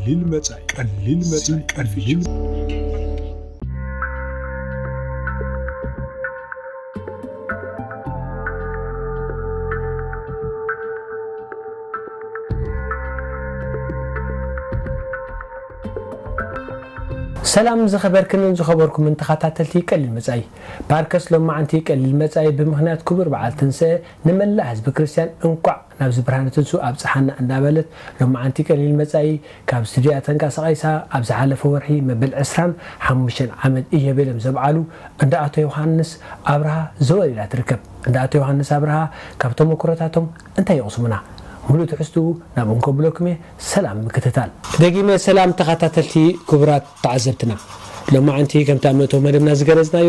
ቀሊል መጻኢ፣ ቀሊል መጻኢ፣ ቀሊል ሰላም ዝኸበርክንን ዝኸበርኩምን ተኸታተልቲ ቀሊል መጻኢ። ባርከስ ሎማዓንቲ ቀሊል መጻኢ ብምኽንያት ክቡር በዓል ትንስኤ ንመላእ ህዝቢ ክርስትያን እንቋዕ ናብዚ ብርሃነ ትንስኡ ኣብጽሓና እንዳበለት፣ ሎማዓንቲ ቀሊል መጻኢ ካብ ስቱድያ ተንቀሳቒሳ ኣብ ዝሓለፈ ወርሒ መበል ዕስራን ሓሙሽተን ዓመት እየቤሎም ዘብዓሉ እንዳ ኣቶ ዮሃንስ ኣብርሃ ዘወር ኢላ ትርከብ። እንዳ ኣቶ ዮሃንስ ኣብርሃ ካብ ተመክሮታቶም እንታይ የቕስሙና? ሙሉእ ትሕዝትኡ ናብኡ እንከብለኩም እየ። ሰላም ምክትታል። ደጊመ ሰላም ተኸታተልቲ ክቡራት ተዓዘብትና። ሎማዓንቲ ከምቲ ኣብ መእተዊ መደብና ዝገለጽናዮ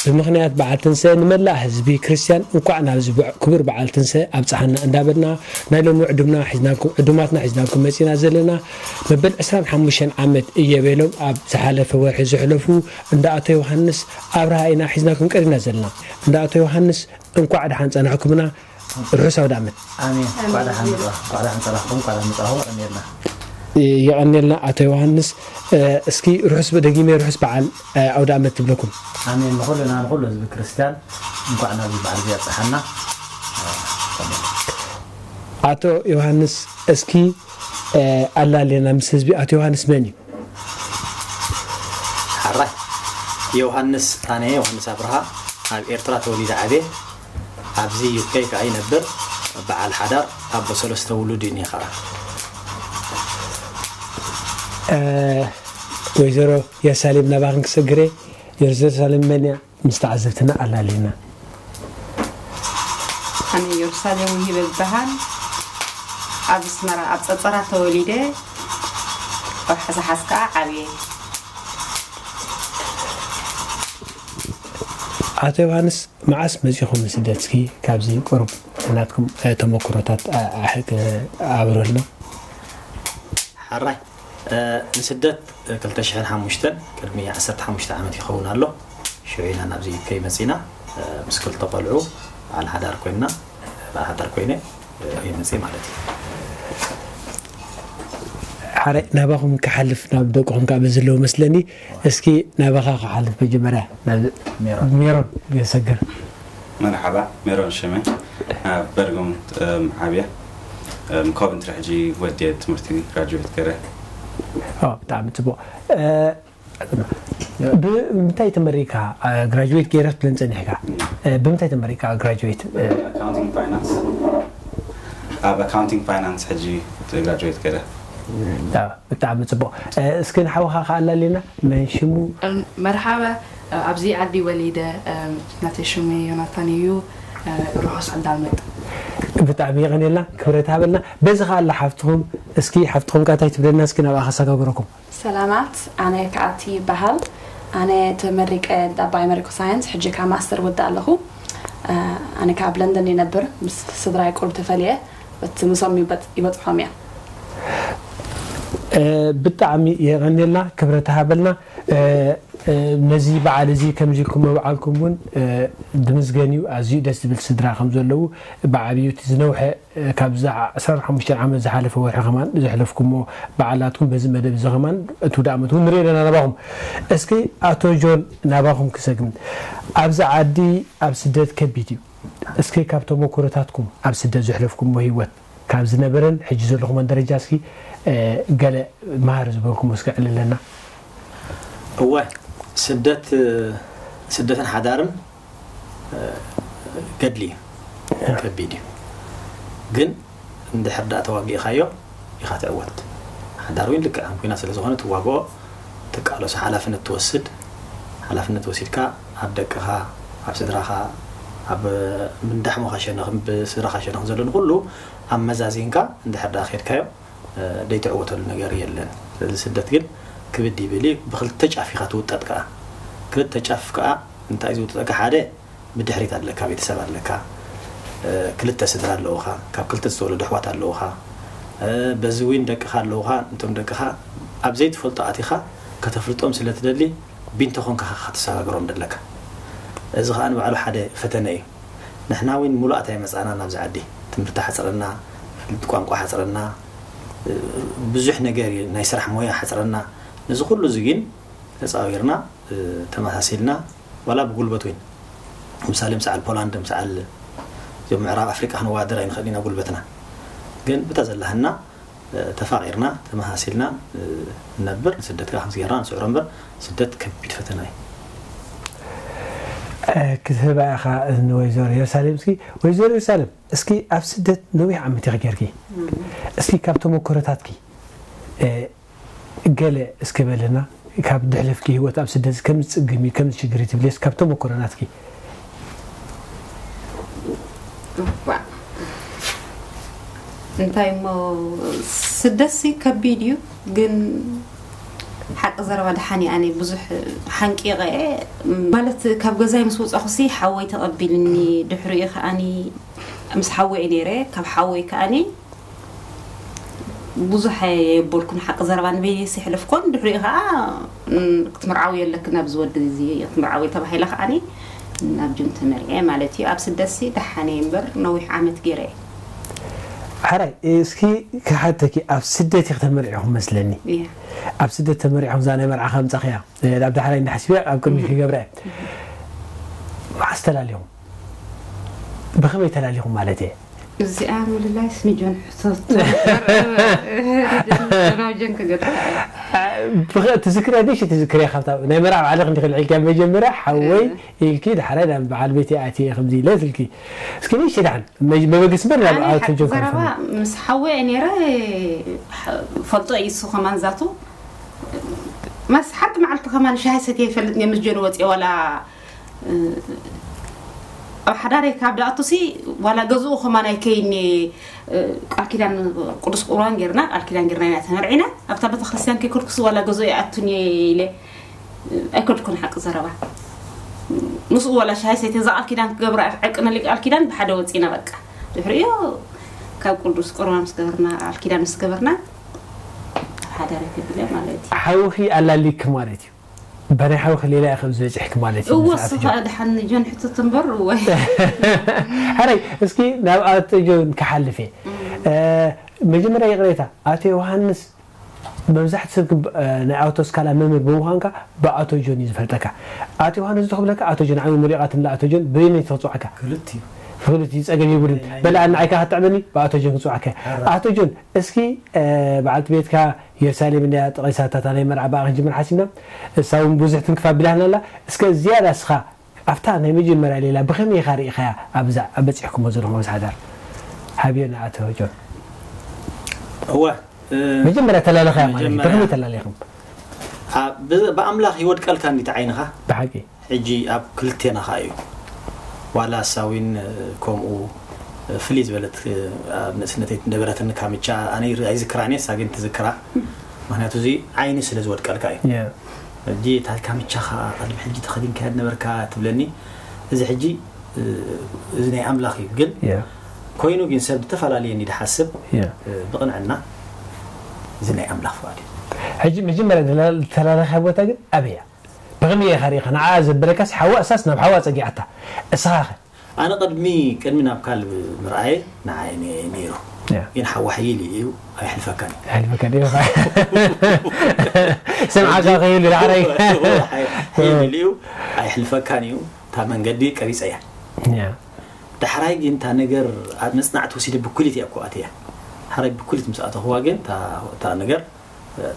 ብምኽንያት በዓል ትንስኤ ንመላእ ህዝቢ ክርስትያን እንኳዕ ናብዚ በዕ- ክቡር በዓል ትንስኤ ኣብጽሓና እንዳበልና ናይ ሎሚ ዕዱምና ሒዝናኩም ዕዱማትና ሒዝናኩም መጺና ዘለና መበል ዕስራን ሓሙሽተን ዓመት እየቤሎም ኣብ ዝሓለፈ ወርሒ ዘሕለፉ እንዳ ኣቶ ዮሃንስ ኣብርሃ ኢና ሒዝናኩም ቀሪብና ዘለና። እንዳ ኣቶ ዮሃንስ እንኳዕ ደሓን ጸናሕኩምና። ርሑስ ኣውደ ዓመት። ኣሜን። እንኳዕ ደሓን መጻ- እንኳዕ ደሓን ጸናሕኩም፣ እንኳዕ ደሓን መጻኹም። ኣሜንና። የቐንየልና ኣቶ ዮሃንስ። እስኪ ርሑስ ደጊመ ርሑስ በዓል ኣውደ ዓመት ትብለኩም። ኣሜን። ንኹልና ንኹሉ ህዝቢ ክርስትያን እንኳዕ ናብዚ በዓል እዚ ኣብጽሓና። ኣቶ ዮሃንስ እስኪ ኣላሌና ምስ ህዝቢ። ኣቶ ዮሃንስ መን እዩ? ሓራይ ዮሃንስ ኣነ ዮሃንስ ኣብርሃ ኣብ ኤርትራ ተወሊደ ዓብየ ኣብዚ ዩኬ ከዓ ይነብር በዓል ሓዳር ኣቦ ሰለስተ ውሉድ እዩ እኒሀ ከዓ ወይዘሮ የሩሳሌም ናባኽን ክሰግረ የሩሳሌም መን እያ ምስ ተዓዘብትና ኣላሊና ኣነ የሩሳሌም ውሂበ ዝበሃል ኣብ ኣስመራ ኣብ ጸጸራ ተወሊደ ኣብ ሓሳሓስ ከዓ ዓብየ ኣቶ ዮሃንስ መዓስ መጺኹም ንስደት እስኪ ካብዚ ቁሩብ ናትኩም ተመክሮታት ኣብረልና ሓራይ ንስደት ክልተ ሽሕን ሓሙሽተን ቅድሚ ዓሰርተ ሓሙሽተ ዓመት ይኸውን ኣሎ ሽዑ ኢና ናብዚ ከይመጺና ምስ ክልተ ቆልዑ በዓል ሓዳር ኮይና በዓል ሓዳር ኮይነ ይመጽእ ማለት እዩ ሓረ ናባኹም ክሓልፍ ናብ ደቅኹም ካብ ዘለዎ መስለኒ እስኪ ናባኻ ክሓልፍ መጀመርያ ሜሮን ገሰግር መርሓባ ሜሮን ሽመ ኣብ በርጎም ዓብያ ኮቨንትሪ ሕጂ ወድየ ትምህርቲ ግራጁዌት ገረ ብጣዕሚ ፅቡቅ ብምንታይ ተመሪካ ግራጁዌት ገይረ ትብለን ፀኒሕካ ብምንታይ ተመሪካ ግራጁዌት ኣብ ኣካውንቲንግ ፋይናንስ ሕጂ ግራጁዌት ገረ ብጣዕሚ ፅቡቅ እስኪ ንሓውካ ከኣላልና መን ሽሙ መርሓባ ኣብዚ ዓዲ ወሊደ ናተይ ሽሙ ዮናታን እዩ ርሑስ ዕዳመት ብጣዕሚ የቀንየልና ክብረት ሃበልና በዚ ከኣላ ሓፍትኹም እስኪ ሓፍትኹም ካታይ ትብለና እስኪ ናብኣ ከሰጋግረኩም ሰላማት ኣነ ከኣቲ ይበሃል ኣነ ተመሪቀ ዳባይ መሪኮ ሳይንስ ሕጂ ካብ ማስተር ወዳ ኣለኹ ኣነ ካብ ለንደን ይነብር ምስ ስድራይ ቁርብ ተፈልየ እቲ ምሶም ይበፅሖም እያ ብጣዕሚ የቀንየልና ክብረት ሃበልና ነዚ በዓል እዚ ከምዚ ኢልኩም ምብዓልኩም እውን ድምዝገን እዩ ኣዝዩ ደስ ዝብል ስድራ ከም ዘለዉ ብዓብዩ እቲ ዝነውሐ ካብዛ ዕስራን ሓሙሽተን ዓመት ዝሓለፈ ወርሒ ከማን ዘሕለፍኩሞ በዓላትኩም በዚ መደብ እዚ ከማን እቲ ውዳእ ዓመት እውን ንሪኦ ኣለና ናባኹም እስኪ ኣቶ ጆን ናባኹም ክሰግም ኣብዚ ዓዲ ኣብ ስደት ከቢድ እዩ እስኪ ካብ ተመክሮታትኩም ኣብ ስደት ዘሕለፍኩሞ ህይወት ካብ ዝነበረን ሕጂ ዘለኹሞን ደረጃ እስኪ ገለ መሃር ዝበልኩም እስኪ ዕልለና እወ ስደት ስደትን ሓዳርን ገድሊ እዩ ከቢድ እዩ ግን እንድሕር ዳኣ ተዋጊእኻዮ ኢኻ ትዕወት ሓዳር እውን ልክዕ ከም ኩና ስለ ዝኾነ ትዋግኦ ትቃለሶ ሓላፍነት ትወስድ ሓላፍነት ወሲድካ ኣብ ደቅኻ ኣብ ስድራኻ ኣብ ምንዳሕሞኻ ሸነኽ ብስድራኻ ሸነኽ ዘሎ ንኩሉ ኣመዛዚንካ እንድሕር ዳኣ ከድካዮ ደይትዕወተሉ ነገር የለን። ስለዚ ስደት ግን ክብድ ይብል እዩ። ብክልተ ጫፍ ኢኻ ትውጠጥ ከዓ። ክልተ ጫፍ ከዓ እንታይ ዝውጥጠካ ሓደ ብድሕሪት ኣለካ፣ ቤተሰብ ኣለካ፣ ክልተ ስድራ ኣለውኻ፣ ካብ ክልተ ዝተወለዱ ኣሕዋት ኣለውኻ፣ በዚ ዊን ደቅኻ ኣለውኻ። እንቶም ደቅኻ ኣብ ዘይትፈልጦ ኣቲኻ ከተፍልጦም ስለ ትደሊ ቢንቶ ኮንካ ኢኻ ከተሰጋግሮም ደለካ። እዚ ከዓ ንባዕሉ ሓደ ፈተነ እዩ። ንሕና እውን ሙሉኣት ኣይመፃእናን ኣብዚ ዓዲ። ትምህርቲ ሓፅረና፣ ፍልጥ ቋንቋ ሓፅረና፣ ብዙሕ ነገር እዩ፣ ናይ ስራሕ ሞያ ሓፅረና። ነዚ ኩሉ እዚ ግን ተፃዊርና፣ ተመሳሲልና፣ ዋላ ብጉልበት ወይን ምሳሌ ምሰዓል ፖላንድ፣ ምሰዓል እዚኦም ምዕራብ ኣፍሪቃ ክንወዳደር ኣይንኽእል ኢና ጉልበትና። ግን ብታ ዘላህና ተፋቒርና ተመሳሲልና ንነብር። ስደት ከዓ ከምዚ ጌርና ንስዕሮ እምበር ስደት ከቢድ ፈተና እዩ። ክትህባ ኢኻ ንወይዘሮ የሩሳሌም። እስኪ ወይዘሮ የሩሳሌም፣ እስኪ ኣብ ስደት ነዊሕ ዓመት ኢኺ ጌርኪ። እስኪ ካብ ተመክሮታትኪ ገለ እስኪ በልና፣ ካብ ድሕለፍኪ ህይወት ኣብ ስደት ከም ዝጽግም እዩ፣ ከም ዝሽግር እዩ ትብልስ ካብ ተመክሮ ናትኪ? እንታይ እሞ፣ ስደትሲ ከቢድ እዩ። ግን ሓቂ ዘረባ ደሓን እየ፣ ኣነ ብዙሕ ሓንቂቐ እየ። ማለት ካብ ገዛይ ምስ ወፃኹሲ ሓወይ ተቐቢልኒ፣ ድሕሪኡ ከኣኒ ምስ ሓወይ እየ ነይረ። ካብ ሓወይ ከኣኒ ብዙሕ የበልኩን ሓቂ ዘረባ ንበይነይስ የሕለፍኮን። ድሕሪኡ ከዓ ክትምርዓዊ የለክን ኣብዚ ወዲ እዚ ክትምርዓዊ ተባሂለ ከዓኒ ናብ ጅም ተመርዐ ማለት እዩ። ኣብ ስደትሲ ደሓነ እምበር ነዊሕ ዓመት ገይረ እየ። ሓራይ እስኪ ክሓተኪ፣ ኣብ ስደት ኢኺ ተመርዒኹም መስለኒ። ኣብ ስደት ተመሪዕኹም እዛ ናይ መርዓ ከምፃኽያ ኣብ ዳሕራይ እንዳሓስብያ ኣብ ቅድሚ ክገብረ እየ። መዓስ ተላሊኹም? ብኸመይ ተላሊኹም ማለት እየ? እዚኣ ምልላይስ ንጆን ሕቶቶ ናብ ጆን ክገጥም። ትዝክርያ ደሽ ትዝክርያ ካብታ ናይ መርዓ ባዕልኽ እንዲ ክልዕልኪያ መጀመርያ ሓወይ ኢልኪ፣ ዳሕራይ ናብ በዓል ቤት ኣትየ ከምዚ ኢለ ትልኪ። እስኪ ንሽ ዳሕን መበገስ በር ናብ ኣቶ ጆን ዘረባ። ምስ ሓወይ ነይረ፣ ፈልጦ እዩ እሱ ከማን ዛቱ። መስ ሓንቲ መዓልቲ ከማን ሻሂ ሰትየ ይፈልጥ እየ ምስ ጆን ወፅየ ዋላ ኣብ ሓዳረይ ካብ ደኣቱሲ ዋላ ገዝኡ ከማን ኣይከይኒ። ቃል ኪዳን ቅዱስ ቁርባን ጌርና፣ ቃል ኪዳን ጌርና ኢና ተመርዒና። ኣብታ ቤተክርስትያን ከይከድኩሲ ዋላ ገዝኡ ይኣቱን እየ ኢለ ኣይከድኩን። ሓቂ ዘረባ ምስኡ ዋላ ሻሂ ሰይተ እዛ ቃል ኪዳን ክገብራ ዕቅነሊ ቃል ኪዳን ብሓደ ወፂና በቃ። ድሕሪኡ ካብ ቅዱስ ቁርባን ምስ ገበርና፣ ቃል ኪዳን ምስ ገበርና፣ ኣብ ሓዳረይ ተቢለ ማለት እዩ። ሓውኺ ኣላሊክ ማለት እዩ። በናይ ሓውኺ ሌላ ኢኺ ዝበፅሕኪ ማለት እዩ። እወ ንስኻ እሱ ኣትጆ። ከዓ ደሓን ጆን ሕቶት እምበር እወ። ሕራይ እስኪ ናብ ኣቶ ጆን ክሓልፍ እየ። እ፣ መጀመርያ ይቕሬታ፣ ኣቶ ዮሃንስ መብዛሕቲ ሰብ ክብ-፣ እ፣ ናይ ኣውቶ ስካላ መምህር ብምዃንካ ብኣቶ ጆን እዩ ዝፈልጠካ። ኣቶ ዮሃንስ ዶ ክብለካ ኣቶ ጆን፣ ዓሚ ሙሊቓት ንላ ኣቶ ጆን በየነይቲ ክፅዋዕካ? ክልቲኡ። ክልቲኡ ጸገም የብሉን። ናይ በላ ናይ ኣና ዓይካ ክትጥዕመኒ ብኣቶ ጆን ክፅዋዕካ። ሕራይ። ኣቶ ጆን እስኪ፣ እ፣ በዓልቲ ቤትካ የሩሳሌም እንድያ ጠቒሳታ እታ ናይ መርዓ ብኣ ክንጅምር ሓሲብና። እሳ እውን ብዙሕ ትንክፍ ኣቢላትና ኣላ። እስከ ዝያዳ እስኻ ኣብታ ናይ መጀመርያ ሌላ ብኸመይ ኢኻ ርኢኻያ ኣብዛ ኣብ በጺሕኩሞ ዘለኹም ኣብዚ ሓዳር? ሃብዮ ንኣቶ ጆን። እወ፣ እ፣ መጀመርያ ተላለኻያ ማለት እዩ። መጀመርያ ብኸመይ ተላለኹም? ብ-፣ ብኣምላኽ ይወድቀልካ እንዲቲ ዓይንኻ። ብሓቂ። ሕጂ ኣብ ክልቴና ኸኣ እዩ። ዋላ ሳዊን ከምኡ ፍልይ ዝበለት ኣብ ንእስነተይ ትነበረትኒ ካምቻ ኣነ ኣይዝክራን እየ፣ እሳ ግን ትዝክራ። ምኽንያቱ እዚ ዓይኒ ስለ ዝወድቀልካ እዩ። ሕጂ እታ ካምቻኻ ቅድሚ ሕጂ ተኸዲንካያ ዝነበርካ ትብለኒ። እዚ ሕጂ እዚ ናይ ኣምላኽ እዩ። ግን ኮይኑ ግን ሰብ ዝተፈላለየ እንዲ ድሓስብ ብቕንዕና እዚ ናይ ኣምላኽ ፍቓድ እዩ። ሕጂ መጀመርያ ዝተላለኻያ ቦታ ግን ኣበይ እያ? ብኸመይ ኢኻ ርኢኻ? ንዓኣ ዘበለካስ ሓዋ እሳስ ናብ ሓዋ ጸጊዓታ። እስኻ ኸ? ኣነ ቅድሚ ቅድሚ ናብ ካልብ ምርኣየ ንዓይ ነ- ነይሩ። ያ። ግን ሓዋ ሕይል ኢሉ እዩ ኣይሕልፈካን እዩ። ኣይሕልፈካን እዩ። ሰምዓካ ከይሉ ዳሕራይ። ሕይል ኢሉ እዩ ኣይሕልፈካን እዩ። እታ መንገዲ ቀሪፀ እያ። ያ። ዳሕራይ ግን እታ ነገር ኣብ መፅናዕቲ ወሲደ ብኩሊት እያ እኮ ኣትያ። ሓራይ ብኩሊት ምስ ኣተኹዋ ግን እታ እታ ነገር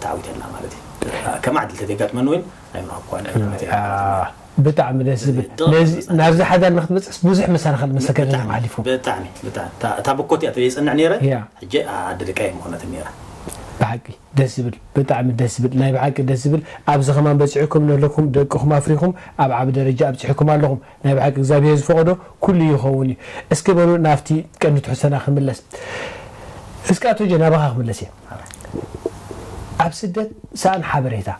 ተዓዊተላ ማለት እዩ። ከም ዓድል ተዘጋጥመኒ እውን ኣይምረኸብኳን። ብጣዕሚ ደስ ዝብል። ነዚ ናብዚ ሓዳር ንክትበፅሕስ ብዙሕ መሰናኽል መሰከረና ሓሊፉ። ብጣዕሚ ብጣዕሚ እታ ብኮት እያ ተዘይፀንዕ ነይረ። ሕጂ ኣደ ደቃ እየ ምኾነት ነይረ። ብሓቂ ደስ ዝብል፣ ብጣዕሚ ደስ ዝብል፣ ናይ ብሓቂ ደስ ዝብል። ኣብዚ ከማን በፂሕኩም ነለኩም ደቅኹም ኣፍሪኹም ኣብ ዓቢ ደረጃ ኣብፂሕኩም ኣለኹም። ናይ ብሓቂ እግዚኣብሔር ዝፈቐዶ ኩሉ ይኸውን እዩ። እስኪ በሉ ናብቲ ቀንዲ ትሕዝቶና ክንምለስ። እስኪ ኣቶ ጆን ናባኻ ክምለስ እየ። ኣብ ስደት ሰኣን ሓበሬታ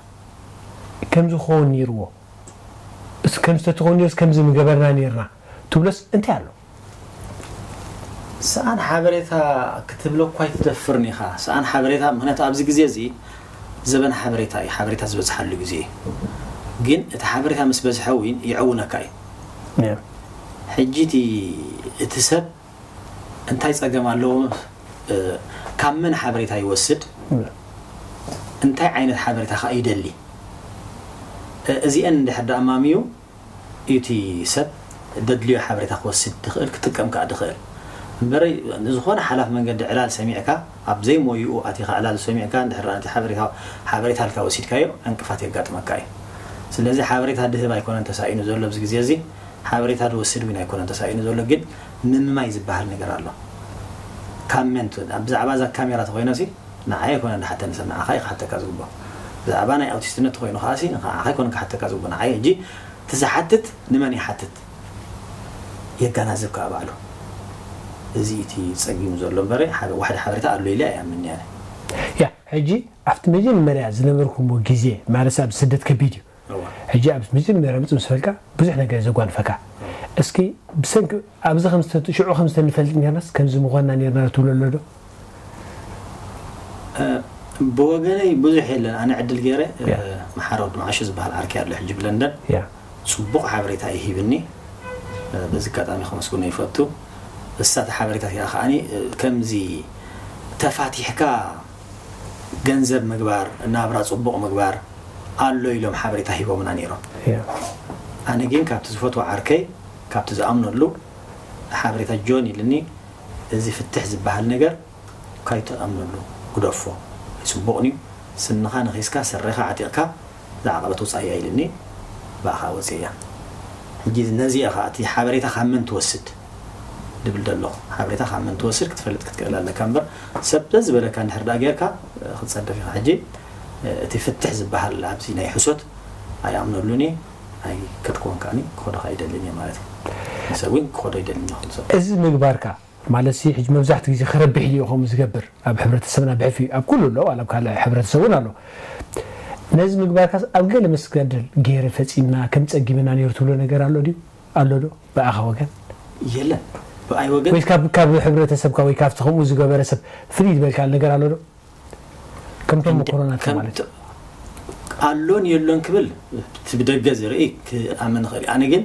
ከምዚ ክኸውን ነይርዎ፣ እስ-፣ ከምዚ ተትኸውን ነይሩስ ከምዚ ምገበርና ነይርና ትብሎስ እንታይ ኣሎ? ሰኣን ሓበሬታ ክትብሎ እኳ ኣይትደፍርን ኢኻ። ሰኣን ሓበሬታ፣ ምኽንያቱ ኣብዚ ግዜ እዚ ዘበን ሓበሬታ እዩ፣ ሓበሬታ ዝበዝሓሉ ግዜ እዩ። ግን እቲ ሓበሬታ ምስ በዝሐ እውን ይዕውነካ እዩ። ሕጂ እቲ እቲ ሰብ እንታይ ጸገም ኣለዎ ካብ መን ሓበሬታ ይወስድ፣ እንታይ ዓይነት ሓበሬታ ከኣ ይደሊ፣ እ- እዚአን እንድሕር ደኣ ኣማሚዩ እቲ ሰብ ደድልዮ ሓበሬታ ክወስድ ድኽእል ክጥቀም ከኣ ድኽእል እምበረ ዝኾነ ሓላፍ መንገዲ ዕላል ሰሚዕካ ኣብ ዘይሞይኡ ኣቲኻ ዕላል ሰሚዕካ እንድሕር እቲ ሓበሬታ ሓበሬታ ልካ ወሲድካዮ ዕንቅፋት የጋጥመካ እዩ። ስለዚ ሓበሬታ ድህብ ኣይኮነን ተሳኢኑ ዘሎ ኣብዚ ግዜ እዚ፣ ሓበሬታ ድወስድ እውን ኣይኮነን ተሳኢኑ ዘሎ። ግን ምምማይ ዝበሃል ነገር ኣሎ። ካመንት ብዛዕባ እዛ ካሜራ ተኮይኖ ሲ ንዓይ ኣይኮነ ንሓተኒ ሰብ ንዓኻ እዩ ክሓተካ ዝግብኦ። ብዛዕባ ናይ ኣውቲስትነት ተኮይኑ ከዓ ሲ ንዓኻ ኣይኮነ ክሓተካ ዝግብኦ። ንዓይ ሕጂ እቲ ዝሓትት ንመን ይሓትት የጋናዝብ ከዓ ባዕሉ። እዚ እቲ ጸጊሙ ዘሎ እምበረ ሓደ ዋሕዲ ሓበሬታ ኣሎ ኢለ ኣይኣምን እየ። ያ ሕጂ ኣብቲ መጀመርያ ዝነበርኩሞ ግዜ ማለት ኣብ ስደት ከቢድ እዩ። ሕጂ ኣብ መጀመርያ ምጽእ ምስ በልካ ብዙሕ ነገር ዘጓንፈካ። እስኪ ብሰንኪ ኣብዚ ከም ዝተ- ሽዑ ከም ዝተንፈልጥ ኔርናስ ከምዚ ምዃንና ኔርና ትብሎ ኣሎ ዶ? ብወገነይ ብዙሕ የለን። ኣነ ዕድል ገይረ ያ። መሓረ ወዲ መዓሾ ዝበሃል ዓርከይ ኣሎ ሕጂ ብለንደን ያ ጽቡቕ ሓበሬታ እዩ ሂብኒ። በዚ ኣጋጣሚ ከመስግኖ ይፈቱ። እሳ እቲ ሓበሬታ እቲኣ ከዓኒ ከምዚ ተፋቲሕካ ገንዘብ ምግባር ናብራ ጽቡቕ ምግባር ኣሎ ኢሎም ሓበሬታ ሂቦምና ነይሮም። ያ ኣነ ግን ካብቲ ዝፈትዎ ዓርከይ ካብቲ ዝኣምነሉ ሓበሬታ ጆን ኢልኒ እዚ ፍትሕ ዝበሃል ነገር ካይትኣምነሉ ግደፎ ኣይፅቡቕን እዩ። ስንኻ ነኺስካ ስረኻ ዓጢቕካ ዝዓቐበት ውፃእ እያ ኢልኒ። ብኣኻ ወፅእ እያ። ሕጂ ነዚኣ ኸዓ እቲ ሓበሬታ ካብ መን ትወስድ ድብል ደለኹ። ሓበሬታ ካብ መን ትወስድ ክትፈልጥ ክትክእል ኣለካ እምበር ሰብ ዝበለካ እንድሕር ደኣ ጌርካ ክትፀደፍ ኢኻ። ሕጂ እቲ ፍትሕ ዝበሃል ኣብዚ ናይ ሕሶት ኣይኣምነሉን እየ። ኣይከድክዎን ከዓኒ ክኸዶ ከዓ ይደልን እየ ማለት እዩ። ንሰብ እውን ክኸዶ ይደልን እየ። እዚ ምግባርካ ማለት ሲ ሕጂ መብዛሕትኡ ግዜ ክረብሕ ድዩ ከምኡ ዝገብር ኣብ ሕብረተሰብና ብሕፊ ኣብ ኩሉ ኣሎ ዋላ ኣብ ካልእ ሕብረተሰብ እውን ኣሎ። ነዚ ምግባርካስ ኣብ ገለ መስገደል ገይረ ፈፂምና ከም ፀጊምና ነይሩ ትብሎ ነገር ኣሎ ድዩ ኣሎ ዶ ብኣኻ ወገን? የለን ብኣይ ወገን ወይስ ካብ ካብ ሕብረተሰብካ ወይ ካብቲ ከምኡ ዝገበረ ሰብ ፍልይ ዝበልካ ነገር ኣሎ ዶ? ከም ተመክሮናትካ ማለት እዩ። ኣሎን የሎን ክብል እቲ ብደገ ዝርኢ ክኣምን ይኽእል። ኣነ ግን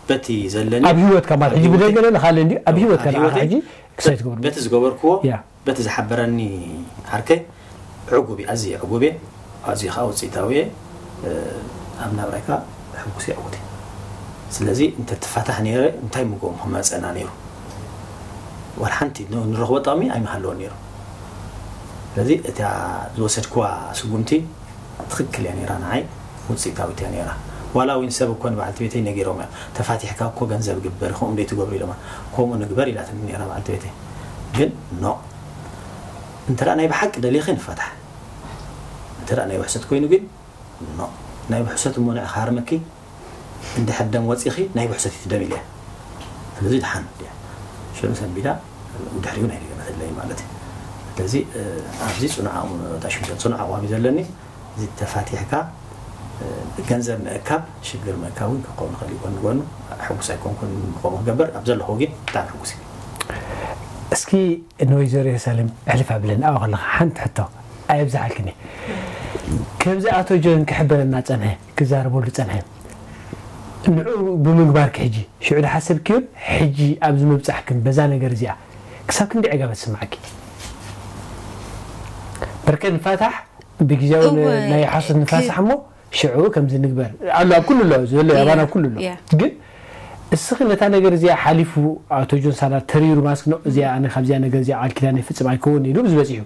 በቲ ዘለኒ ኣብ ህይወትካ ማለት ሕጂ ብደገ ለለ ካልእ እንዲ ኣብ ህይወትካ ኣብ ንዓኻ ህይወተይ ሕጂ ክሳይ ትገብሩ በቲ ዝገበርክዎ ያ በቲ ዝሓበረኒ ዓርከይ ዕጉብ እየ፣ ኣዝየ ዕጉብ እየ፣ ኣዝየ ከዓ ውፅኢታዊ እየ። ኣብ ናብራይ ከዓ ሕጉስ እየ፣ ዕዉት እየ። ስለዚ እንተትፋታሕ ነይረ እንታይ ምጎም ክመፀና ነይሩ? ዋላ ሓንቲ ን- ንረኽቦ ጥቕሚ ኣይምሃለወን ነይሩ። ስለዚ እታ ዝወሰድክዋ ስጉምቲ ትኽክል እያ ነይራ፣ ንዓይ ውፅኢታዊት እያ ነይራ። ዋላ እውን ሰብ እኮ ንበዓልቲ ቤተይ ነጊሮም እዮም፣ ተፋቲሕካ እኮ ገንዘብ ግበር፣ ከምኡ እንደ ትገብሩ ኢሎማ፣ ከምኡ ንግበር ኢላትኒ ነይራ በዓልቲ ቤተይ። ግን ኖ እንተ ናይ ብሓቂ ደሊኺ ንፋታሕ፣ እንተ ናይ ውሕሰት ኮይኑ ግን ኖ ናይ ብሕሰት እሞ ንዕ ክሃርመኪ እንድሕር ደም ወፂኺ ናይ ብሕሰት እዩ ደም ኢለ። ስለዚ ድሓን እያ ሽዑ ሰንቢዳ ድሕሪኡ ናይ ደገመተለይ ማለት እዩ። ስለዚ ኣብዚ ፅኑዕ ኣእምሮ እታ ሽምሸል ፅኑዕ ኣቋም እዩ ዘለኒ። እዚ ተፋቲሕካ ገንዘብ ምእካብ ሽግር ምእካብ እውን ክኸውን ይኽእል እዩ። ጎኒ ጎኑ ሕጉስ ኣይኮንኩን ከምኡ ክገብር ኣብ ዘለኹ ግን ብጣዕሚ ሕጉስ እዩ። እስኪ ንወይዘሮ የሩሳሌም ሕልፍ ኣብለን ኣብኣ ከለኻ ሓንቲ ሕቶ ኣየብዝሓልክን እየ። ከምዚ ኣቶ ጆን ክሕበረና ጸንሐ ክዛረበሉ ጸንሐ ንዑ ብምግባርኪ ሕጂ ሽዑ ድሓሰብክዮን ሕጂ ኣብዚ ምብጻሕክን በዛ ነገር እዚኣ ክሳብ ክንደይ ዕጋበት ስምዓኪ? በርከ ንፋታሕ ብግዜያዊ እወ፣ ናይ ሓሶት ንፋሳሕ እሞ ሽዑ ከምዚ ንግበር ኣሎ ኣብ ኩሉ ኣሎ ዘሎ ያ፣ ኣባና ኣብ ኩሉ ኣሎ ያ። ግን እስኺ ነታ ነገር እዚኣ ሓሊፉ ኣቶ ጆን ሳላ ተሪሩ ማስክ ነው እዚኣ ኣነ ካብዚኣ ነገር እዚኣ ቃል ኪዳን ይፍጽም ኣይከውን ኢሉ ብዝበጺሑ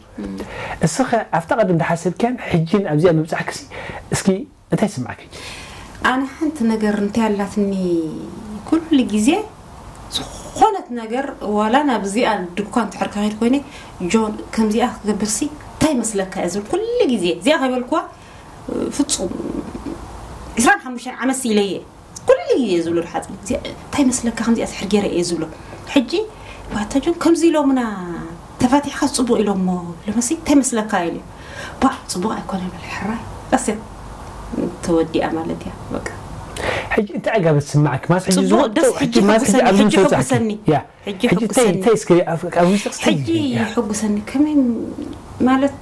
እስኺ ኣብታ ቀደም ዝሓሰብክያን ሕጂን ኣብዚኣ ምብጻሕክሲ እስኪ እንታይ ስማዕኪ ኣነ ሓንቲ ነገር እንታይ ኣላትኒ ኩሉ ግዜ ዝኾነት ነገር ዋላ ናብ እዚኣ ድኳን ትሕር ካኸድ ኮይነ ጆን ከምዚኣ ክገብርሲ እንታይ መስለካ እየ ዝብል ኩሉ ግዜ እዚኣ ከይበልኩዋ ፍጹም ዕስራን ሓሙሽተን ዓመት ኢለየ ኩሉ ግዜ ዝብሎ ሓፂ እንታይ መስለካ ከምዚኣ ትሕር ገይረ እየ ዝብሎ ሕጂ ባታ ጆን ከምዚ ኢሎምና ተፋቲሕካ ፅቡቅ ኢሎሞ ኢሎመሲ እንታይ መስለካ ኢሉ ባዕ ፅቡቅ ኣይኮነ በለ ሕራይ ቀስት ተወዲኣ ማለት እያ በቃ ሕጂ እንታይ ዕጋበት ስማዕኪ ማስ ሕጂ ፅቡቅ ዝወ- ደስ ሕጂ ሕጂ ማስ ሕጂ ሕጉሰኒ ኣብዚ ሕጂ ምሰብጻሕኪ ሕጉሰኒ ያ ሕጂ ሕጂ እንታይ ሕጉሰኒ እንታይ እስከ ኣብ- ኣብ ውሽጥስ እንታይ ሕጂ ያ ሕጉሰኒ ከመይ ማለት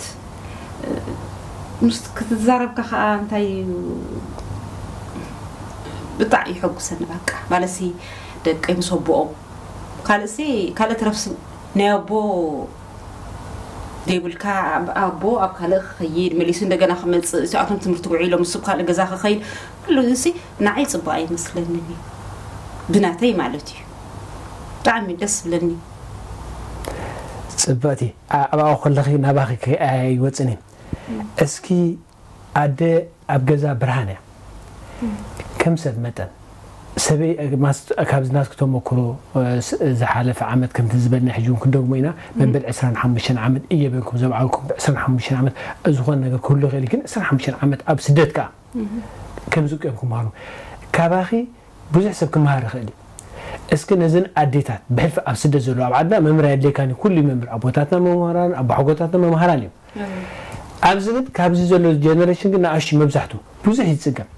ምስ ክትዛረብ ከ ከዓ እንታይ እዩ ብጣዕ ይሕጉሰኒ በቃ ማለትሲ ደቀይ ምስ ኣቦኦም ካልእሲ ካልእ ተረፍሲ ናይ ኣቦ ዘይብልካ ኣብ ኣቦ ኣብ ካልእ ክኸይድ፣ መሊሱ እንደገና ክመጽእ፣ እዚኣቶም ትምህርቲ ውዒሎም፣ ንሱ ኣብ ካልእ ገዛ ክኸይድ፣ ኩሉ እዚ ንዓይ ጽቡቕ ኣይመስለንን እዩ። ብናተይ ማለት እዩ። ብጣዕሚ ደስ ዝብለኒ። ጽብቕቲ፣ ኣ-፣ ኣብኣ ከለኺ ናባኺ ከ-፣ ኣይወጽን እዩ። እስኪ ኣደ ኣብ ገዛ ብርሃን እያ። ከም ሰብ መጠን፣ ሰበይ፣ ማስ-፣ ካብዚ ናትኪ ተመክሮ፣ እ፣ ስ-፣ ዝሓለፈ ዓመት ከምቲ ዝበልና ሕጂ እውን ክንደግሞ ኢና። መበል ዕስራን ሓሙሽተን ዓመት እየ በልኩም ዘብዓልኩም። ብ ዕስራን ሓሙሽተን ዓመት ዝኾነ ነገር ክህሉ ይኽእል እዩ፣ ግን ዕስራን ሓሙሽተን ዓመት ኣብ ስደት ከኣ ከምዚ እዮም ክመሃሩ። ካባኺ ብዙሕ ሰብ ክመሃር ይኽእል እዩ። እስኪ ነዘን ኣዴታት ብሕልፊ ኣብ ስደት ዘለዋ፣ ኣብ ዓድና መምህር ኣየድልየካን እዩ፣ ኩሉ እዩ መምህር፣ ኣቦታትና መምህራን፣ ኣቦሓጎታትና መምሃራን እዮም። ኣብዚ ግን ካብዚ ዘሎ ጀነሬሽን ግን ንኣሽቱ መብዛሕቱ ብዙሕ ይጽገም።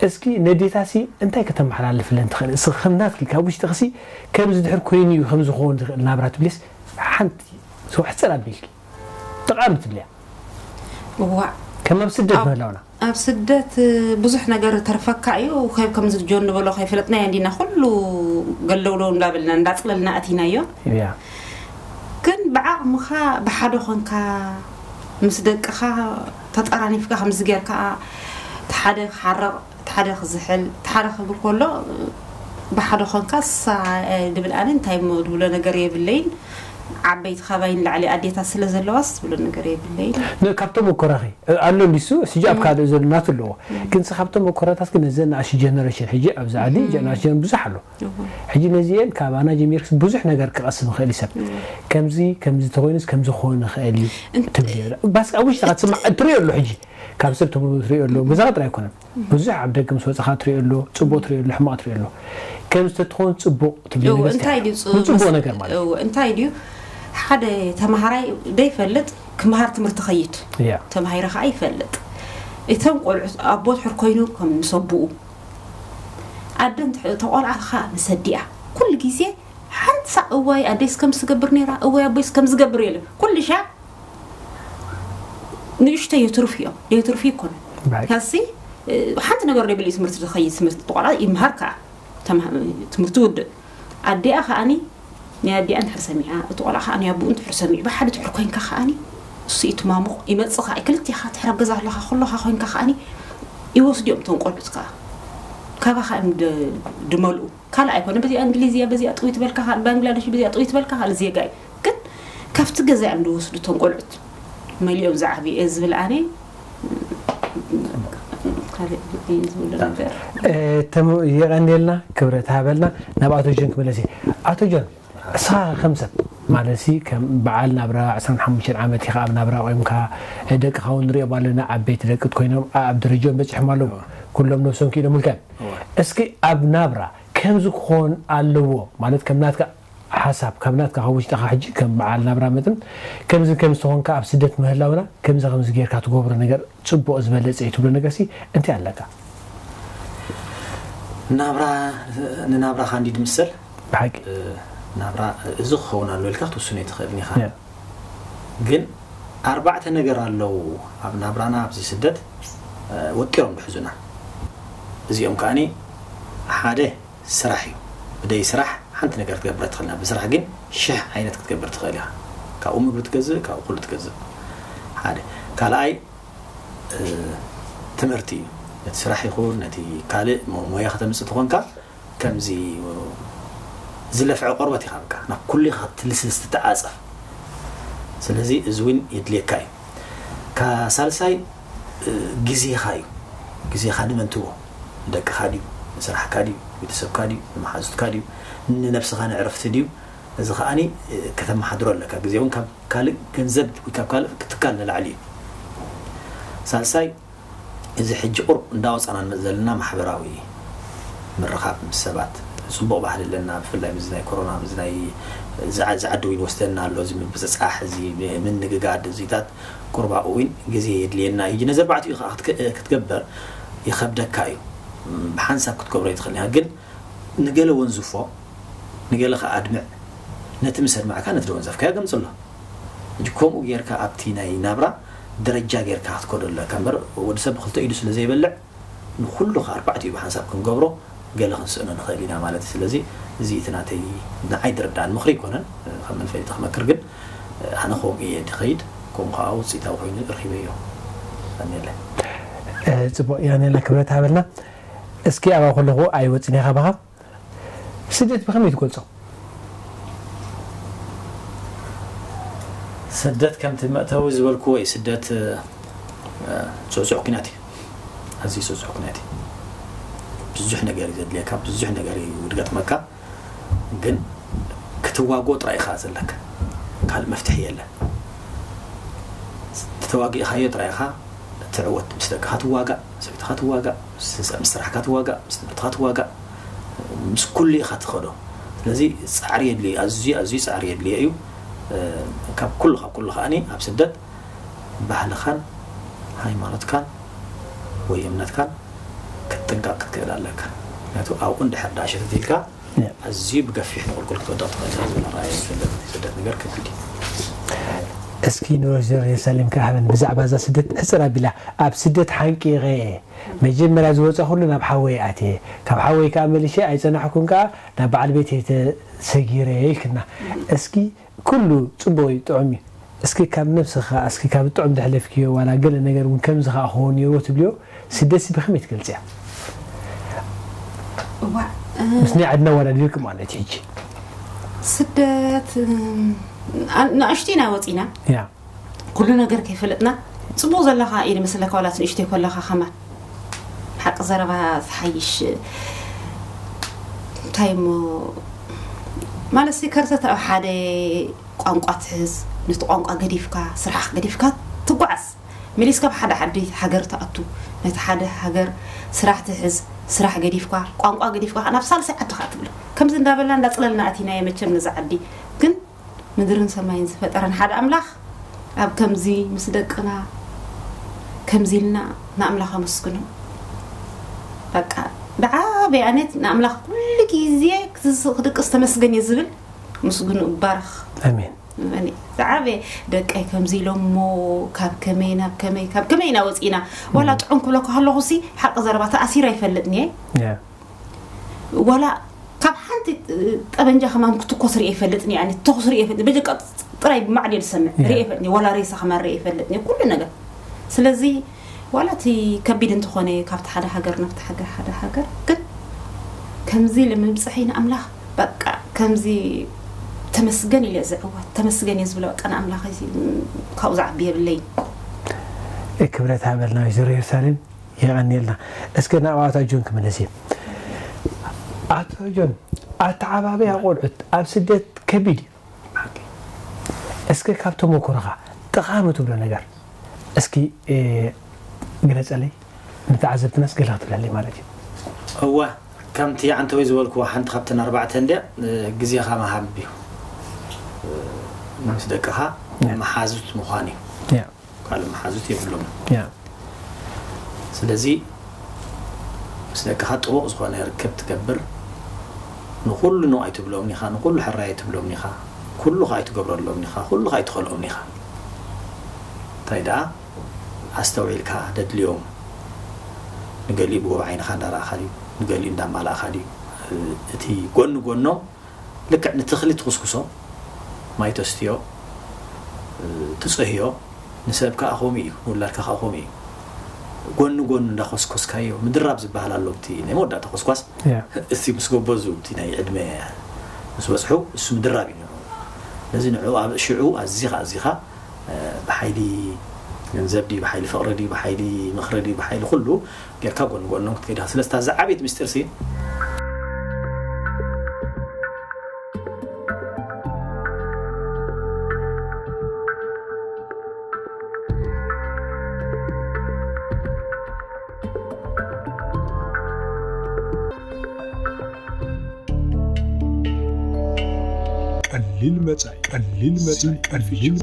እስኪ ነዴታሲ እንታይ ከተመሓላልፍለን ትኽእል? እስኺ ከም ናትኪ ካብ ውሽጥኽሲ ከምዚ ድሕር ኮይኑ እዩ ከምዚ ክኸውን ዝኽእል ናብራ ትብልስ ሓንቲ ሰው ሕጽር ኣቢልኪ ጠቓሚ ትብልያ? እዋእ ከም ኣብ ስደት ምህላውና ኣብ ስደት ብዙሕ ነገር ተርፈካ እዩ። ከብ ከምዚ ጆን ንበሎ ከይፈለጥናዮ እንዲና ኩሉ ገለውለው እንዳበልና እንዳጽለልና ኣቲናዮ። እያ። ግን ብዓቕምኻ ብሓደ ኾንካ ምስ ደቅኻ ተጠራኒፍካ ከምዚ ጌርካ እቲ ሓደ ክሓርቕ እቲ ሓደ ክዝሕል እቲ ሓደ ክብል ከሎ ብሓደ ኾንካ ሳ ድብል ኣነ እንታይ እሞ ድብሎ ነገር የብለይን። ዓበይቲ ካባይ ንላዕሊ ኣዴታት ስለ ዘለዋስ ድብሎ ነገር የብለይን። ን-፣ ካብ ተመኮራኺ ኣሎ እንዲሱ ሕጂ ኣብ ካልእ ዘሎ ናቱ ኣለዎ። ግን ስ-፣ ካብ ተመኮራታት ግን ነዘ ንኣሽቱ ጀነሬሽን ሕጂ ኣብዚ ዓዲ ጀነሬሽን ብዙሕ ኣሎ። ሕጂ ነዚኤን ካብ ኣና ጀሚርክስ ብዙሕ ነገር ክቐስም ይኽእል እዩ ሰብ። ከምዚ ከምዚ ተኾይኑስ ከምዚ ክኸውን ይኽእል እዩ ትብሊ። ባስ ኣብ ውሽጥኻ ትስማዕ እትሪኦ ኣሎ ሕጂ ካብ ሰብ ተምሮ እትሪኦ ኣሎ። ገዛኻ ጥራይ ኣይኮነን። ብዙሕ ኣብ ደገ ምስ ወጻኻ ትሪኦ ኣሎ፣ ጽቡቕ ትሪኦ ኣሎ፣ ሕማቕ ትሪኦ ኣሎ። ከምዚ ተትኾን ጽቡቕ ትብሊ እው፣ ነገር እንታይ ድዩ ጽ-፣ ጽቡቕ መስ-፣ ነገር ማለት እዩ። እው፣ እንታይ ድዩ ሓደ ተማሃራይ ደይፈልጥ ክምሃር ትምህርቲ ኸይድ። እያ። ተማሂረ ኸዓ ይፈልጥ። እቶም ቆልዑት ኣቦ ድሕር ኮይኑ ከም ምስ ኣቦኡ፣ ኣደ እንተ-፣ ተቆልዓ ኸዓ ምስ ኣዲኣ። ኩሉ ግዜ ሓንሳእ እዋይ ኣደይስ ከም ዝገብር ነይራ፣ እዋይ ኣቦይስ ከም ዝገብር የለ። ኩሉ ሻዕ ንእሽተይ የትርፉ እዮም። የትርፉ ይኮነ። ብሓቂ። ካሲ፣ እ፣ ሓንቲ ነገር ደይብሉ እዩ ትምህርቲ ዝኸይድ፣ ትምህርቲ ቆልዓ ይምሃር ከኣ። ተማ-፣ ትምህርቲ ውድእ። ኣዲኣ ከኣኒ ናይ ኣዲኣ እንድሕር ሰሚዓ፣ እቲ ቆልዓ ከኣ ናይ ኣቦኡ እንድሕር ሰሚዑ፣ ብሓደ ድሕር ኮይንካ ከኣኒ፣ እሱ እዩ ትማሙቕ፣ ይመጽእ ከኣ፣ ክልቴኻ ትሕር ኣብ ገዛ ኣለኻ፣ ኩሎኻ ኮይንካ ከኣኒ፣ ይወስድዮም እቶም ቆልዑት ከኣ። ካባኻ እዮም ድ-፣ ድመልኡ። ካልእ ኣይኮነ፣ በዚኣ እንግሊዝ እያ፣ በዚኣ ጥውይ ትበልካ፣ ካልእ ባንግላደሽ፣ በዚኣ ጥውይ ትበልካ፣ ካልእ ዜጋ እዩ። ግን ካብቲ ገዛ እዮም ዝወስዱ እቶም ቆልዑት። መሊኦም ዝዓብዩ እየ ዝብል ኣነ፣ ካልእ ዝብሎ ነገር። እ፣ ተም-፣ የቐንየልና፣ ክብረት ሃበልና። ናብ ኣቶ ጆን ክመለስ እየ። ኣቶ ጆን፣ እስኻ ከም ሰብ፣ ማለት ሲ፣ ከም በዓል ናብራ ዕስራን ሓሙሽተን ዓመት ኢኻ ኣብ ናብራ ቆይምካ፣ ደቅኻ እውን ንሪኦም ኣለና፣ ዓበይቲ ደቂ ኮይኖም ኣብ ደረጃኦም በጺሖም ኣለዉ። ኩሎም ነብሶም ክኢሎምልካ እዮም። እዋ። እስኪ ኣብ ናብራ ከምዚ ክኾን ኣለዎ፣ ማለት ከም ናትካ ሓሳብ፣ ካብ ናትካ ካብ ውሽጥኻ ሕጂ ከም በዓል ናብራ መጠን፣ ከምዚ ከምዚ ተኾንካ ኣብ ስደት ምህላውና፣ ከምዚ ከምዚ ጌርካ ትገብሮ ነገር ጽቡቕ ዝበለጸ እዩ ትብሎ ነገርሲ እንታይ ኣለካ? ናብራ፣ ንናብራኻ እንዲ ድምሰል፣ ብሓቂ። እ፣ ናብራ፣ እዚ ክኸውን ኣሎ ኢልካ ክትውስኖ ኣይትኽእልን ኢኻ። ያ። ግን ኣርባዕተ ነገር ኣለዉ ኣብ ናብራና ኣብዚ ስደት፣ እ፣ ወጢሮም ዝሕዙና። እዚኦም ከኣኒ ሓደ ስራሕ እዩ። ብደይ ስራሕ ሓንቲ ነገር ክትገብር ኣይትኽእልን። ብስራሕ ግን ሽሕ ዓይነት ክትገብር ትኽእል ኢኻ። ካብኡ ምግቢ ትገዝእ፣ ካብኡ ኩሉ ትገዝእ። ሓደ። ካልኣይ፣ እ፣ ትምህርቲ እዩ። ነቲ ስራሕ ይኹን ነቲ ካልእ ሞ-፣ ሞያ ከተምጽእ ተኾንካ፣ ከምዚ ዝለፍዐ ቆርበት ኢኻ፣ በቃ ናብ ኩሉ ኢኻ ክትልስልስ ትተዓጸፍ። ስለዚ እዚ እውን የድልየካ እዩ። ካ-፣ ሳልሳይ፣ እ፣ ግዜኻ እዩ። ግዜኻ ንመን ትህቦ? ንደቅኻ ድዩ? ንስራሕካ ድዩ? ቤተሰብካ ድዩ? ንመሓዙትካ ድዩ? ንነብስኻ ንዕረፍቲ ድዩ? እዚ ከኣኒ፣ እ፣ ከተመሓድሮ ኣለካ። ግዜ እውን ካብ ካልእ ገንዘብ ወይ ካብ ካልእ ትካል ንላዕሊ እዩ። ሳልሳይ፣ እዚ ሕጂ ቁሩብ እንዳወጻና ንመጽእ ዘለና ማሕበራዊ ምርኻብ ምስ ሰባት፣ ጽቡቕ ባህሊ ኣለና። ብፍላይ ምስዚ ናይ ኮሮና፣ ምስዚ ናይ፣ እዚ ዓ-፣ እዚ ዓዲ እውን ይወስደና ኣሎ፣ እዚ ምብጽጻሕ፣ እዚ ምንግጋድ፣ እዚታት ቁሩብ ኣብኡ እውን ግዜ የድልየና እዩ። ነዚ ኣርባዕቲኡ ከዓ ክትክ-፣ ክትገብር ይኸብደካ እዩ። ብሓንሳብ ክትገብሮ ኣይትኽእልን ኢኻ። ግን ንገለ ወንዝፎ፣ ንገለ ከዓ ኣድምዕ። ነቲ ምስ ኣድመዕካ ነቲ ዝወንዘፍካዮ ገምጽሎ። ሕጂ ከምኡ ጌርካ ኣብቲ ናይ ናብራ ደረጃ ጌርካ ክትከዶ ኣለካ እምበር፣ ወዲ ሰብ ብክልተ ኢዱ ስለ ዘይበልዕ፣ ንኹሉ ከኣ ኣርባዕቲኡ ብሓንሳብ ክንገብሮ ገለ ክንስእኖ ንኽእል ኢና ማለት እዩ። ስለዚ እዚ እቲ ናተይ፣ ንዓይ ዝርድኣኒ ምኽሪ ኣይኮነን፣ ከም መንፈሊጢ ክመክር ግን፣ ኣነ ከምኡ እየ ድኸይድ። ከምኡ ከዓ ውፅኢታዊ ኮይኑ ረኺበዮ። ኣኔለ ጽቡቅ ያኔላ ክብረት ሃበልና። እስኪ ኣብኣ ከለኹ ኣይወፅን ኢኻ ባኻ። ስደት ብኸመይ ትገልጾ? ስደት ከምቲ መእተዊ ዝበልኩዎ እዩ። ስደት ጽዕጹዕ ኩናት እዩ። ኣዝዩ ጽዕጹዕ ኩናት እዩ። ብዙሕ ነገር እዩ ዘድልየካ፣ ብዙሕ ነገር እዩ ዝገጥመካ። ግን ክትዋጎ ጥራይ ኢኻ ዘለካ። ካልእ መፍትሒ የለን። ተዋጊእኻዮ ጥራይ ኢኻ ትዕወት። ምስ ደቅኻ ትዋጋእ፣ ሰበይትኻ ትዋጋእ፣ ምስ ስራሕካ ትዋጋእ፣ ምስ ትምህርትኻ ትዋጋእ፣ ምስ ኩሉ ኢኻ ትኸዶ። ስለዚ ጻዕሪ የድልዮ፣ ኣዝዩ ኣዝዩ ጻዕሪ የድልዮ እዩ። ካብ ኩሉ ካብ ኩሉ ከኣኒ ኣብ ስደት ባህልኻን ሃይማኖትካን ወይ እምነትካን ክትጥንቀቕ ክትክእል ኣለካ። ምክንያቱ ኣብኡ እንድሕር ደኣ ሸተት ኢልካ ኣዝዩ ብገፊሕ ንቁልቁል ክትወድቕ ትኽእል ኢኻ ዝብል ኣረኣእያ ይፈልጥ። ስደት ነገር ከቢድ እዩ። እስኪ ንወይዘሮ የሩሳሌም ከኣ ሃበን ብዛዕባ እዛ ስደት ሕጽር ኣቢላ። ኣብ ስደት ሓንቂቐ እየ። መጀመርያ ዝወጻኹሉ ናብ ሓወይ ኣትየ። ካብ ሓወይ ከኣ መሊሸ ኣይጸናሕኩን ከኣ ናብ በዓል ቤተይ ተሰጊረ ኢልክና። እስኪ ኩሉ ጽቡቕ እዩ፣ ጥዑም እዩ። እስኪ ካብ ነብስኻ፣ እስኪ ካብ ጥዑም ዘሕለፍክዮ ዋላ ገለ ነገር እውን ከምዚ ከኣ ክኸውን ነይርዎ ትብልዮ፣ ስደትሲ ብኸመይ ትገልጽያ? እዋእ ምስ ናይ ዓድና ኣወዳዲርክ ማለት እዩ ሕጂ። ስደት እም፣ ኣ- ንኣሽቱ ኢና ወፂና። ያ ኩሉ ነገር ከይፈለጥና። ፅቡቅ ዘለካ እዩ ዝመስለካ ዋላ ንእሽተይ ከለካ ከማን ሓቂ ዘረባ ዝሓይሽ። እንታይ እሞ ማለት ሲ ከርተት ኣብ ሓደ ቋንቋ ትሕዝ፣ ነቲ ቋንቋ ገዲፍካ ስራሕ ገዲፍካ ትጓዓዝ። መሊስካ ኣብ ሓደ ዓዲ ሃገር ትኣቱ፣ ነቲ ሓደ ሃገር ስራሕ ትሕዝ፣ ስራሕ ገዲፍካ ቋንቋ ገዲፍካ ናብ ሳልሳይ ዓዲ ከዓ ትብሎ። ከምዚ እንዳበልና እንዳፅለልና ኣቲናዮ መቸም ነዛ ዓዲ። ግን ምድርን ሰማይን ዝፈጠረን ሓደ ኣምላኽ ኣብ ከምዚ ምስ ደቅና ከምዚ ኢልና ንኣምላኽ ኣመስግኖ። በቃ ብዓበይ ኣነት ንኣምላኽ ኩሉ ግዜ ክትስ- ክትድቅስ ተመስገን እየ ዝብል። ምስግኑ እባረኽ። ኣሜን። እኔ ዝዓበየ ደቀይ ከምዚ ኢሎሞ ካብ ከመይ ናብ ከመይ ካብ ከመይ ኢና ወፂና። ዋላ ጥዑም ክብለካ ከለኹ ሲ ሓቂ ዘረባ ተኣሲረ ኣይፈልጥን እየ። ያ ዋላ ካብ ሓንቲ ጠበንጃ ከማን ክትኮስ ርእ ይፈልጥኒ ኣነ ተኹስ ርእ ይፈልጥ በጀቃ ጥራይ ብማዕድ ዝሰምዕ ርእ ይፈልጥኒ ዋላ ሬሳ ከማን ርእ ይፈልጥኒ ኩሉ ነገር። ስለዚ ዋላ እቲ ከቢድ እንተኾነ ካብቲ ሓደ ሃገር ናብቲ ሃገር ሓደ ሃገር ግን ከምዚ ኢለ ምብፅሐይ ንኣምላኽ በቃ ከምዚ ተመስገን ኢለ ዝዕወት ተመስገን እየ ዝብሎ በቃ ንኣምላኽ ካብኡ ዝዓቢ የብለይ። ክብረት ሃበልና ወይዘሮ ኢየሩሳሌም። የቐንየልና። እስከ ናብ ኣቶ ጆን ክምለስ እየ። ኣቶ ጆን፣ ኣተዓባብያ ቆልዑት ኣብ ስደት ከቢድ እዩ። እስከ ካብ ተመኩሮኻ ጠቓሚ ትብሎ ነገር እስኪ ግለፀለይ፣ ንተዓዘብትናስ ገለ ክትብለለይ ማለት እዩ። እወ፣ ከምቲ ዓንተወይ ዝበልክዎ ሓንቲ ካብተን ኣርባዕተ እንድያ። ግዜኻ ምሃብ እዩ። ምስ ደቅኻ መሓዙት ምዃን እዩ። ካልእ መሓዙት የብሎም። ስለዚ ምስ ደቅኻ ጥቡቕ ዝኾነ ርክብ ትገብር። ንኹሉ ኖ ኣይትብሎም ኢኻ፣ ንኹሉ ሕራይ ኣይትብሎም ኢኻ፣ ኩሉ ከኣ ኣይትገብረሎም ኢኻ፣ ኩሉ ከኣ ኣይትኸልኦም ኢኻ። እንታይ ደኣ ኣስተውዒልካ ደድልዮም። ንገሊኡ ብጎብ ዓይንኻ እንዳረኣኻ ድዩ፣ ንገሊኡ እንዳማላእኻ ድዩ? እቲ ጎኒ ጎኖም ልክዕ ንተኽሊ ትኹስኩሶ፣ ማይ ተስትዮ፣ ትጽህዮ፣ ንሰብ ከኣ ከምኡ እዩ፣ ንውላድካ ከኣ ከምኡ እዩ። ጎኒ ጎኑ እንዳኾስኮስካዮ፣ ምድራብ ዝበሃል ኣሎ። እቲ ናይ መወዳእታ ኮስኳስ፣ ያ። እስቲ ምስ ጎበዙ፣ እቲ ናይ ዕድመ ምስ በጽሑ፣ እሱ ምድራብ እዩ ንዕኡ። ስለዚ ንዕኡ ኣብ ሽዕኡ ኣዚኻ ኣዚኻ፣ ብሓይሊ ገንዘብ ድዩ፣ ብሓይሊ ፍቕሪ ድዩ፣ ብሓይሊ ምኽሪ ድዩ፣ ብሓይሊ ኩሉ ጌርካ ጎኒ ጎኖም ክትከይድ ኢኻ። ስለዚ እታ ዝዓበየት ምስጢር ሲ ቀሊል መጻኢ፣ ቀሊል መጻኢ፣ ቀሊል